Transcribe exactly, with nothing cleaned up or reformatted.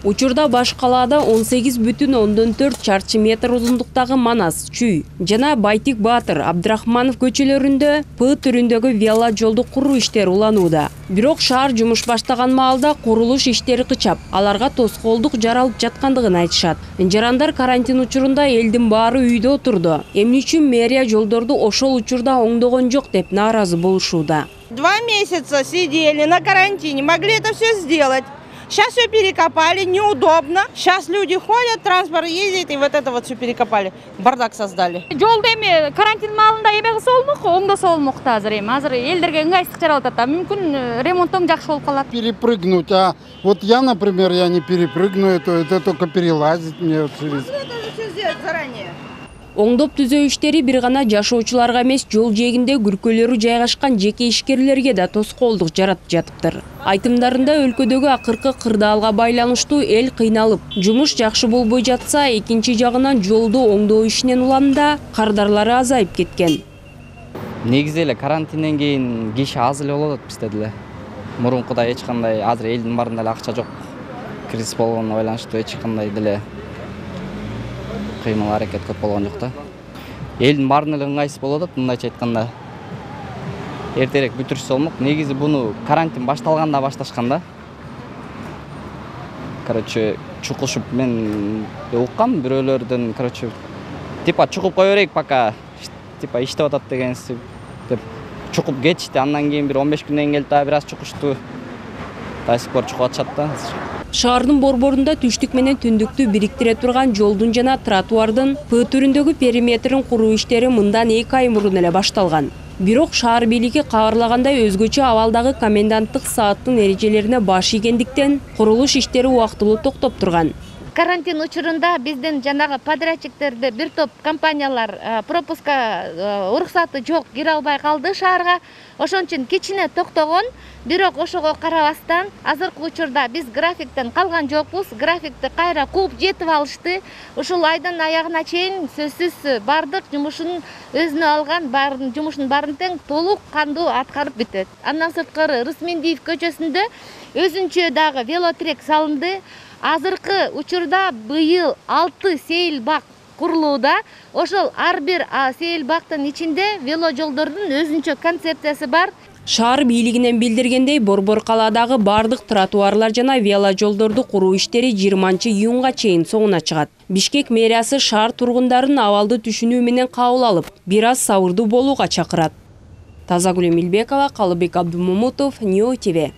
Учурда баш калаада он сегиз бүтүн ондон төрт чарчы метр узундуктагы Манас, Чүй жана Байтик Баатыр, Абдрахманов көчөлөрүндө П түрүндөгү вело жолду куруу иштери уланууда. Бирок шаар жумуш баштаган маалда курулуш иштери кычап, аларга тоскоолдук жаралып жаткандыгын айтышат. Жарандар карантин учурунда элдин баары үйдө отурду. Эмне үчүн мэрия жолдорду ошол учурда оңдогон жок деп нааразы болушууда. Два месяца сидели на карантине, могли это все сделать. Сейчас все перекопали, неудобно. Сейчас люди ходят, транспорт ездит, и вот это вот все перекопали. Бардак создали. Жолду эми карантин маалында эме кылса болмок, оңдосо болмок да азыр эми. Азыр элдерге ыңгайсыздык жаралып атат. Мүмкүн ремонттон жакшы болуп калат. Перепрыгнуть, а вот я, например, я не перепрыгну, это, это только перелазить мне через... Это же все сделать заранее. Оңдоп түзөө иштери бир гана жашоочуларга эмес, жол жээгинде күркөлөрү жайгашкан жеке ишкерлерге да тоскоолдук жаратып жатыптыр. Айтымдарында өлкөдөгү акыркы кырдаалга байланыштуу эл кыйналып, жумуш жакшы болбой жатса, экинчи жагынан жолду оңдоо ишинен уланында кардарлары азайып кеткен. Негизи эле карантинден кийин киши аз эле болуп атат бизде деле. Мурункудай эч кандай азыр элдин баарында эле акча жок. Кризис болгонуна байланыштуу эч кандай деле кыймыл аракет көп болгон жок да. Элдин баарына эле ыңгайсыз болуп атат, мындайча айтканда. Эртерээк бүтүрүшсө болмок. Негизи буну карантин башталганда башташкан да. Короче, чукушуп мен уккам бирөөлөрдөн, короче, типа чукуп кое берейик пока типа иштеп атат деген деп чукуп кетишти. Андан кийин бир он беш күндөн келип дагы бир аз чукушту. До сих пор чукуп атышат да. Шаардын борборунда түштүк менен түндүктү бириктире турган жолдун жана тротуардын П түрүндөгү периметрин куруу иштери мындан эки ай мурун эле башталган. Бирок шаар бийлиги кабарлагандай өзгөчө абалдагы коменданттык сааттын эрежелерине баш ийгендиктен курулуш иштери убактылуу токтоп турган. Карантин учурунда биздин жанагы подрядчиктерди бир топ компаниялар пропуска уруксаты жок кире албай калды шаарга. Ошон үчүн кичине токтогон, бирок ошого карабастан азыркы учурда биз графиктен калган жокпуз. Графикти кайра кууп жетип алышты. Ушул айдын аягына чейин сөзсүз бардык жумушун өзүнө алган, баарын жумушун баарын тең толук кандуу аткарып бүтөт. Андан сырткары Рысмендиев көчөсүндө өзүнчө дагы велотрек салынды. Азыркы учурда быйыл алты сейил бак курулууда. Ошол ар бир сейил бактын ичинде вело жолдордун өзүнчө концепциясы бар. Шаар бийлигинен билдиргендей, борбор калаадагы бардык тротуарлар жана вело жолдорду куруу иштери жыйырманчы июнга чейин соңуна чыгат. Бишкек мэриясы шаар тургундарын абалды түшүнүү менен кабыл алып, бир аз сабырдуу болууга чакырат. Тазагүл Эмилбекова, Калыбек Абдумамутов, Ньюс ТВ.